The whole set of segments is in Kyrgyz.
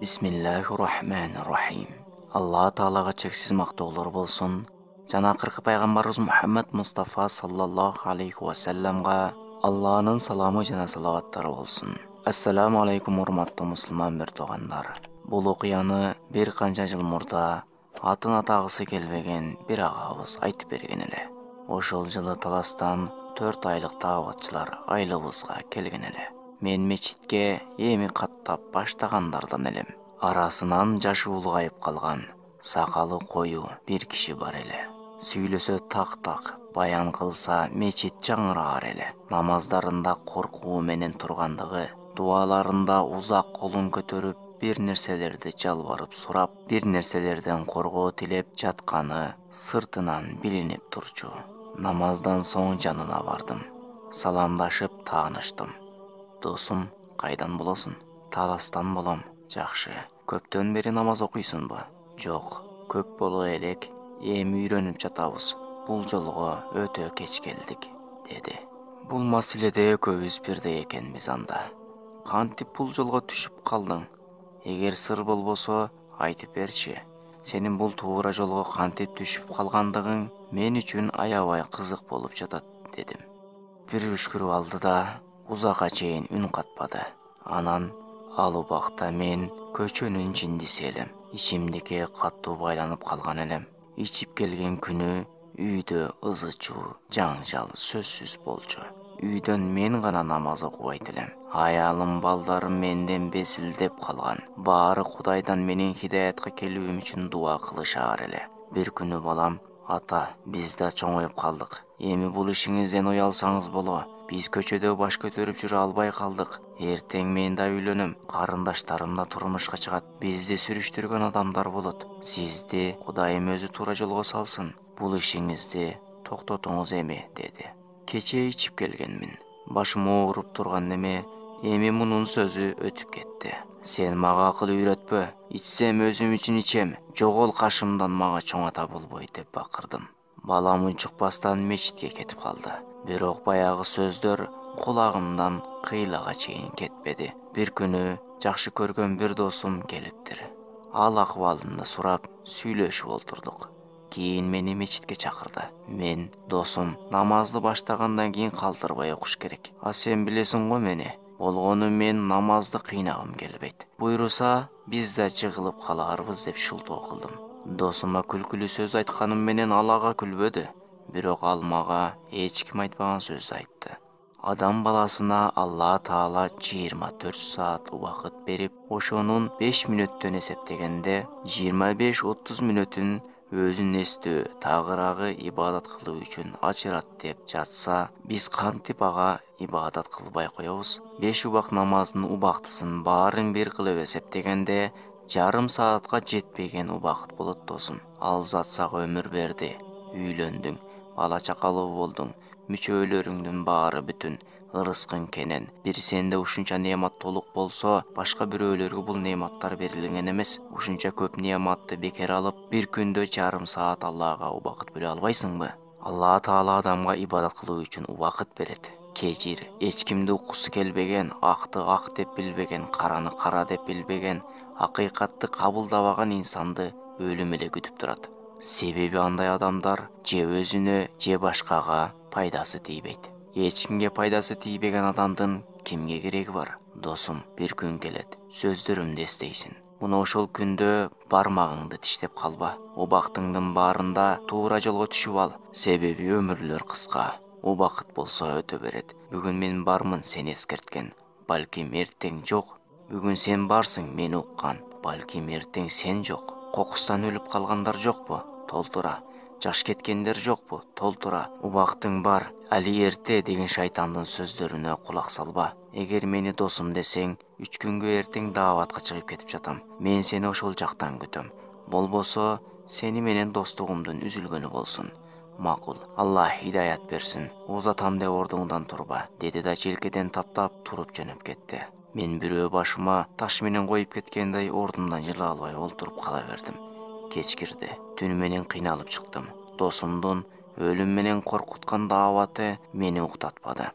Бисмиллахир-рахманир-рахим. Алла Таалага чексиз мактоолор болсун. Жана акыркы пайгамбарыбыз Мухаммад Мустафа саллаллаху алейхи ва салламга Алланын саламы жана салаваттары болсун. Ассаламу алейкум урматтуу мусулман биртугандар. Бул окуяны бир канча жыл мурда атын атагысы келбеген бир агабыз айтып берген эле. Ошол жылы Таластан 4 айлык дааватчылар айлыбызга келген эле. Мен мечитке эми каттап баштагандардан элем. Арасынан жашы улгайып калган, сакалы кою бир киши бар эле. Сүйлөсө так-так, баян кылса мечит жаңыраар эле. Намаздарында коркуу менен тургандыгы, дуаларында узак колун көтөрүп бир нерселерди жалбарып сурап, бир нерселерден коргоо тилеп жатканы сыртынан билинип турчу. Намаздан соң жанына бардым. Саламдашып тааныштым. Досум, кайдан болосуң? Таластан болом. Жакшы. Көптөн бери намаз окуйсуңбу? Жок, көп боло элек, эми үйрөнүп жатабыз. Бул жолго өтө кеч келдик, деди. Бул маселеде экөөбүз бирдей экенбиз анда. Кантип бул жолго түшүп калдың? Эгер сыр болбосо, айтып берчи. Сенин бул туура жолго кантип түшүп калгандыгың мен үчүн аябай кызык болуп жатат, дедим. Бир үшкүрүп алды да узакка чейин үн катпады. Анан ал убакта мен көчөнүн жиндиси элем. Ичимдикке каттуу байланып калган элем. Ичип келген күнү үйдө ызы-чуу, жаңжал сөзсүз болчу. Үйдөн мен гана намаз окубайт элем. Аялым, балдарым менден безилдеп калган. Баары Кудайдан менин хидаятка келүүм үчүн дуа кылышаар эле. Бир күнү балам: "Ата, биз да чоңоюп калдык. Эми бул ишиңизден уялсаңыз боло. Биз көчөдө баш көтөрүп жүрө албай калдык. Эртең мен да үйлөнөм, карындаштарым да турмушка чыгат. Бизди сүрүштүргөн адамдар болот. Сизди Кудайым өзү туура жолго салсын. Бул ишиңизди токтотуңуз эми", деди. Кечээ ичип келгенмин. Башым ооруп турган неме эми мунун сөзү өтүп кетти. "Сен мага акыл үйрөтпө. Ичсем өзүм үчүн ичем. Жогол кашымдан, мага чоң ата болбойт", деп бакырдым. Балам унчукпастан мечитке кетип калды. Бирок баягы сөздөр кулагымдан кыйлага чейин кетпеди. Бир күнү жакшы көргөн бир досум келиптир. Ал акыбалымды сурап, сүйлөшүп олтурдук. Кийин мени мечитке чакырды. Мен: "Досум, намазды баштагандан кийин калтырбай окуш керек. А сен билесиң го мени. Болгону мен намазды кыйнагым келбейт. Буйруса, биз да жыгылып калаарбыз", деп шултоо кылдым. Досума күлкүлүү сөз айтканым менен ал ага күлбөдү. Бирок ал мага эч ким айтпаган сөздү айтты. Адам баласына Алла Таала 24 саат убакыт берип, ошонун 5 мүнөттөн эсептегенде 25-30 мүнөтүн өзүн эстөө, тагыраагы ибадат кылуу үчүн ажырат деп жатса, биз кантип ага ибадат кылбай коебуз? 5 убак намаздын убактысын баарын бир кылып эсептегенде, жарым саатка жетпеген убакыт болот, досум. Ал зат сага өмүр берди, үйлөндүң, бала чакалуу болдуң, мүчөлөрүңдүн баары бүтүн, ырыскың кенен. Бир сенде ушунча неамат толук болсо, башка бирөөлөргө бул неаматтар берилген эмес. Ушунча көп неаматты бекер алып, бир күндө жарым саат Аллага убакыт бөлө албайсыңбы? Алла Таала адамга ибадат кылуу үчүн убакыт берет. Кечир, эч кимди уккусу келбеген, акты ак деп билбеген, караны кара деп билбеген, акыйкатты кабылдабаган инсанды өлүм эле күтүп турат. Себеби андай адамдар же өзүнө, же башкага пайдасы тийбейт. Эч кимге пайдасы тийбеген адамдын кимге кереги бар? Досум, бир күн келет, сөздөрүмдү эстейсиң. Мына ошол күндө бармагыңды тиштеп калба. Убактыңдын баарында туура жолго түшүп ал. Себеби өмүрлөр кыска. Убакыт болсо өтө берет. Бүгүн мен бармын, сени эскерткен. Балким эртең жок. Бүгүн сен барсың, мени уккан. Балким эртең сен жок. Кокустан өлүп калгандар жокпу? Толтура. Жаш кеткендер жокпу? Толтура. Убактың бар, али эрте деген шайтандын сөздөрүнө кулак салба. Эгер мени досум десең, 3 күнгө эртең дааватка чыгып кетип жатам. Мен сени ошол жактан күтөм. Болбосо, сени менен достугумдун үзүлгөнү болсун. Макул. Алла хидаят берсин. Узатам деп ордуңдан турба, деди да желкеден таптап туруп жөнөп кетти. Мен бирөө башыма таш менен коюп кеткендей ордумдан жыла албай олтуруп кала бердим. Кечкирди. Түнү менен кыйналып чыктым. Досумдун өлүм менен коркуткан дааваты мени уктатпады.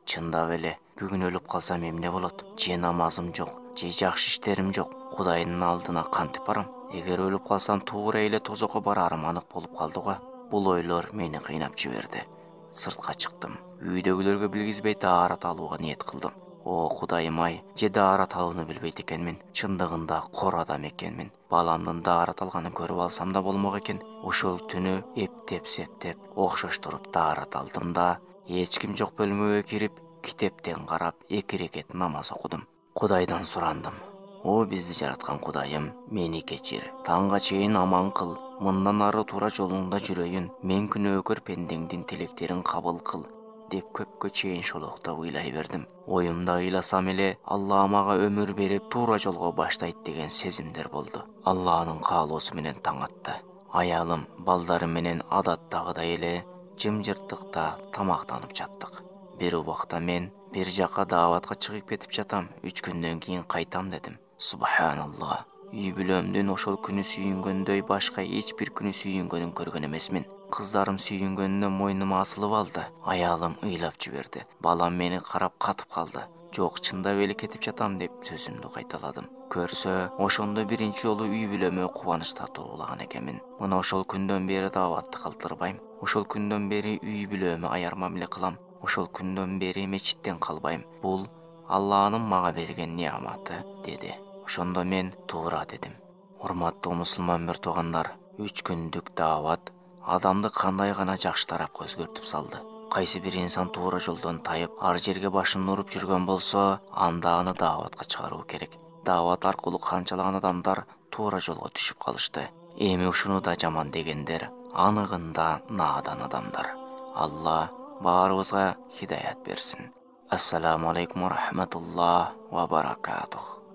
Чындап эле, бүгүн өлүп калсам эмне болот? Же намазым жок, же жакшы иштерим жок. Кудайдын алдына кантип барам? Эгер өлүп калсам туура эле тозокко барарым анык болуп калды го. Бул ойлор мени кыйнап жиберди. Сыртка чыктым. Үйдөгүлөргө билгизбей даарат алууга ниет кылдым. О Кудайым-ай, же даарат алууну билбейт экенмин. Чындыгында кор адам экенмин. Баламдын даарат алганын көрүп алсам да болмок экен. Ошол түнү эптеп септеп окшоштуруп даарат алдым да, эч ким жок бөлмөгө кирип, китептен карап 2 рекет намаз окудум. Кудайдан сурандым. О бизди жараткан Кудайым, мени кечир. Таңга чейин аман кыл. Мындан ары туура жолуңда жүрөйүн. Мен күнөөкөр пендеңдин тилектерин кабыл кыл деп көпкө чейин шолоктоп ыйлай бердим. Оюмда ыйласам эле Алла мага өмүр берип туура жолго баштайт деген сезимдер болду. Алланын каалоосу менен таң атты. Аялым, балдарым менен адаттагыдай эле жымжырттыкта тамактанып жаттык. Бир убакта мен бир жака дааватка чыгып кетип жатам. 3 күндөн кийин кайтам дедим. Субханалла. Үй бүлөмдүн ошол күнү сүйүнгөндөй башка эч бир күнү сүйүнгөнүн көргөн эмесмин. Кыздарым сүйүнгөнүнө мойнума асылып алды. Аялым ыйлап жиберди. Балам мени карап катып калды. Жок, чындап эле кетип жатам деп сөзүмдү кайталадым. Көрсө, ошондо биринчи жолу үй бүлөмө кубаныч тартуулаган экенмин. Мына ошол күндөн бери дааватты калтырбайм. Ошол күндөн бери үй бүлөмө аяр мамиле кылам. Ошол күндөн бери мечиттен калбайм. Бул Алланын мага берген неаматы, деди. Ошондо мен туура дедим. Урматтуу мусулман бир туугандар, 3 күндүк даават адамды кандай гана жакшы тарапка өзгөртүп салды. Кайсы бир инсан туура жолдон тайып, ар жерге башын уруп жүргөн болсо, анда аны дааватка чыгаруу керек. Даават аркылуу канчалаган адамдар туура жолго түшүп калышты. Эми ушуну да жаман дегендер аныгында наадан адамдар. Алла баарыбызга хидаят берсин. Ассаламу алейкум ва рахматуллах ва баракатух.